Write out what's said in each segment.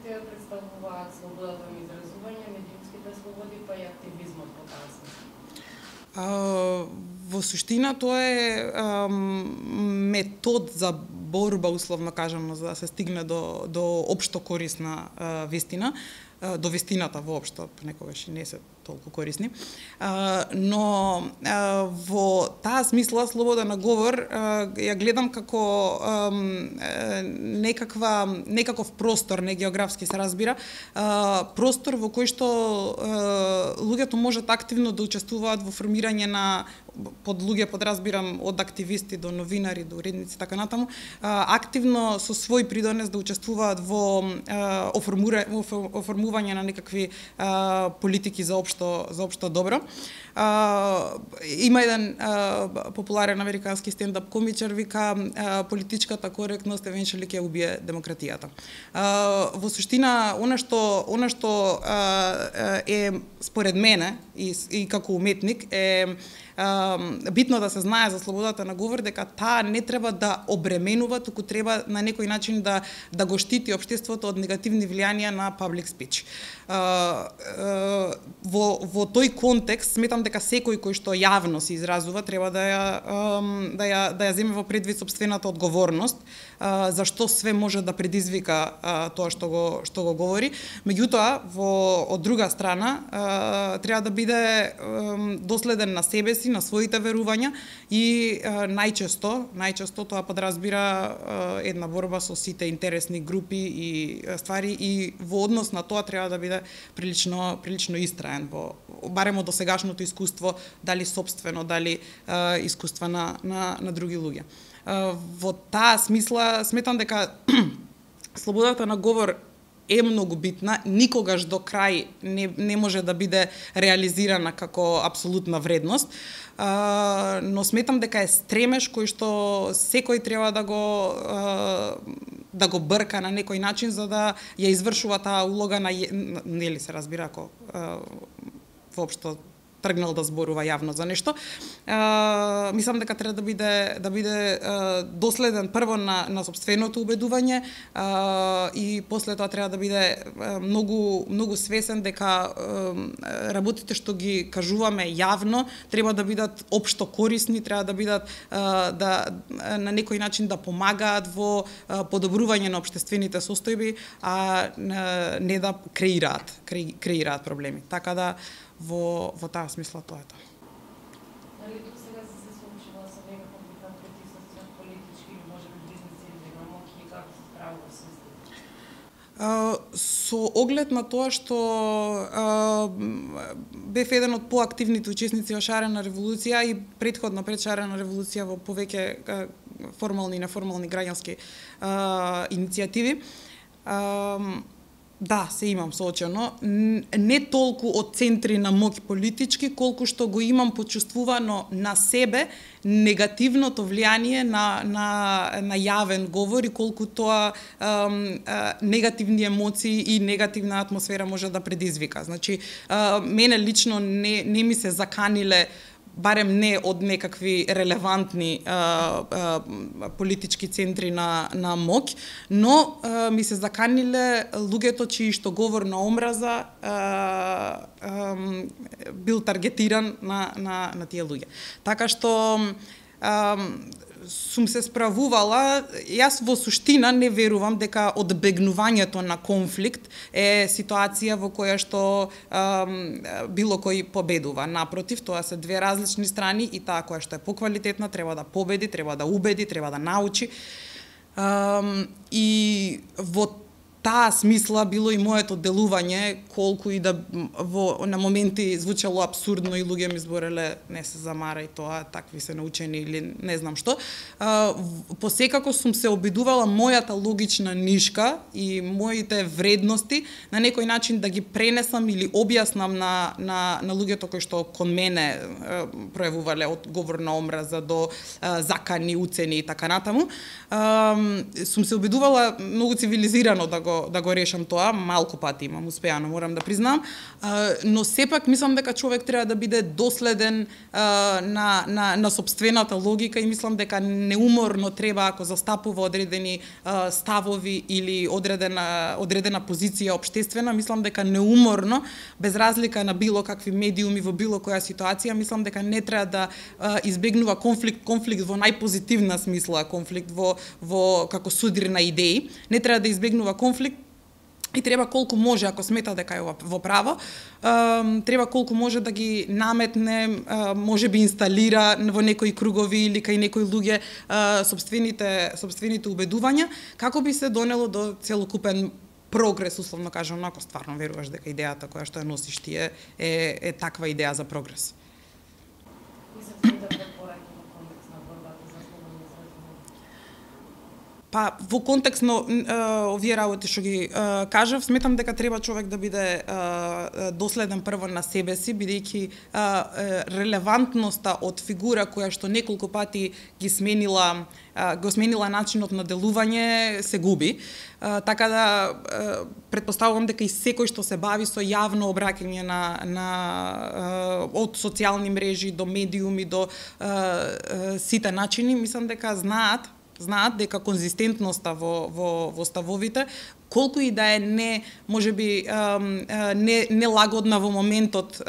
Кои ја представуваат слободата на изразување, медиумските слободи, па и активизмот во таа смисла? Во суштина тоа е метод за борба, условно кажано, за да се стигне до општо корисна вистина, до вистината воопшто, некогаш и не се толку корисни. Но во таа смисла слобода на говор ја гледам како некаков простор, не географски се разбира, простор во кој што луѓето можат активно да учествуваат во формирање на под луѓе подразбирам од активисти до новинари, до уредници така натаму, активно со свој придонес да учествуваат во оформување на некакви политики за општо добро. Има еден популарен американски стендап комичар вика политичката коректност евенчуали ќе убие демократијата. Во суштина она што е според мене и како уметник е битно да се знае за слободата на говор дека таа не треба да обременува, туку треба на некој начин да го штити општеството од негативни влијанија на public speech. Во тој контекст сметам дека секој кој што јавно се изразува треба да ја земе во предвид сопствената одговорност за што све може да предизвика тоа што го говори. Меѓутоа, од друга страна треба да биде доследен на себе си, на своите верувања и најчесто тоа подразбира една борба со сите интересни групи и ствари и во однос на тоа треба да биде прилично истраен барем од досегашното искуство, дали сопствено, дали искуства на други луѓе. Во таа смисла сметам дека слободата на говор е многу битна, никогаш до крај не може да биде реализирана како апсолутна вредност, но сметам дека е стремеж кој што секој треба да го брка на некој начин за да ја извршува таа улога нели се разбира ако воопшто тргнал да зборува јавно за нешто. Мислам дека треба да биде доследен прво на сопственото убедување и после тоа треба да биде многу свесен дека работите што ги кажуваме јавно треба да бидат општо корисни, треба да бидат на некој начин да помагаат во подобрување на општествените состојби, а не да креираат проблеми. Така да во таа смисла тоа е тоа. Дали до сега се случила со некаков вид притисоци од политички или можеби бизнеси или моќи и како се справува со истите? Со оглед на тоа што бев еден од поактивните учесници во шарена револуција и претходно пред шарена револуција во повеќе формални и неформални граѓански иницијативи, да, се имам соочено, не толку од центри на моќ политички, колку што го имам почувствувано на себе негативното влијание на јавен говор и колку тоа негативни емоции и негативна атмосфера може да предизвика. Значи, мене лично не ми се заканиле барем не од некакви релевантни политички центри на моќ, но ми се заканиле луѓето чии што говор на омраза бил таргетиран на тие луѓе. Така што сум се справувала, јас во суштина не верувам дека одбегнувањето на конфликт е ситуација во која што било кој победува. Напротив, тоа се две различни страни и таа која што е поквалитетна треба да победи, треба да убеди, треба да научи. И во таа смисла било и моето делување, колку и да на моменти звучало абсурдно и луѓе ми збореле не се замара и тоа, такви се научени или не знам што. Посекако сум се обидувала мојата логична нишка и моите вредности на некој начин да ги пренесам или објаснам на луѓето кои што кон мене пројавувале од говор на омраза до закани, уцени и така натаму. Сум се обидувала многу цивилизирано да го го решам тоа, малку пати имам успеано, морам да признам, но сепак мислам дека човек треба да биде доследен на сопствената логика и мислам дека неуморно треба, ако застапува одредени ставови или одредена позиција општествена, мислам дека неуморно, без разлика на било какви медиуми во било која ситуација, мислам дека не треба да избегнува конфликт во најпозитивна смисла, конфликт во како судир на идеи, не треба да избегнува конфликт и треба колку може, ако смета дека е во право, треба колку може да ги наметне, може би инсталира во некои кругови или кај некои луѓе сопствените убедувања, како би се донело до целокупен прогрес, условно кажам, ако стварно веруваш дека идејата која што ја носиш ти е таква идеја за прогрес. Па, во контекст на овие работи што ги кажав, сметам дека треба човек да биде доследен прво на себе си, бидејќи релевантноста од фигура која што неколку пати го сменила начинот на делување се губи. Така да претпоставувам дека и секој што се бави со јавно обраќање од социјални мрежи до медиуми до сите начини, мислам дека знаат дека конзистентноста во ставовите, колку и да е можеби не лагодна во моментот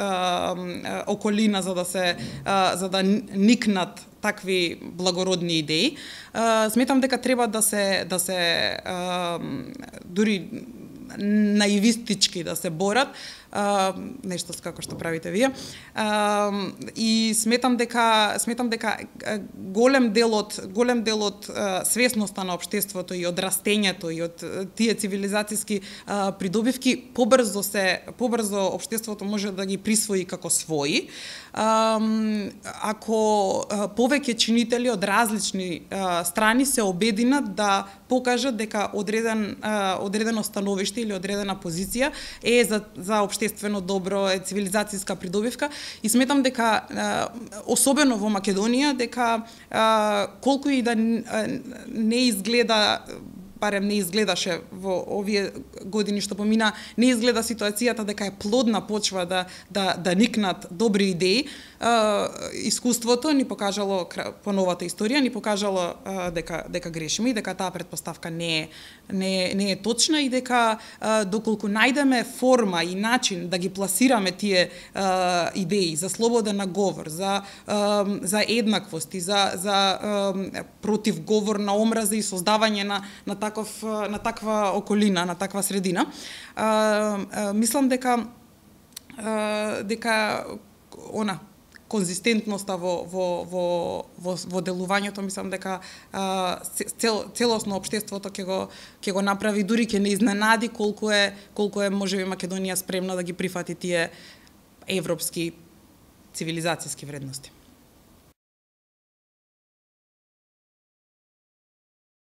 околина за да никнат такви благородни идеи, сметам дека треба да се дури наивистички да се борат, нешто како што правите вие. И сметам дека голем дел од свесноста на општеството и од растењето и од тие цивилизацијски придобивки побрзо општеството може да ги присвои како своји. Ако повеќе чинители од различни страни се обединат да покажат дека одредено становиште или одредена позиција е за општествено добро, е цивилизацијска придобивка и сметам дека особено во Македонија дека колку и да не изгледа, барем не изгледаше во овие години што помина, не изгледа ситуацијата дека е плодна почва да никнат добри идеи. Искуството ни покажало, по новата историја ни покажало дека грешиме и дека таа претпоставка не е точна и дека доколку најдеме форма и начин да ги пласираме тие идеи за слободен говор, за еднаквост и за противговор на омраза и создавање на таква околина, на таква средина, мислам дека конзистентноста во делувањето, мислам дека целосно општеството ќе го направи, дури ќе не изненади колку е можеби Македонија спремна да ги прифати тие европски цивилизацијски вредности.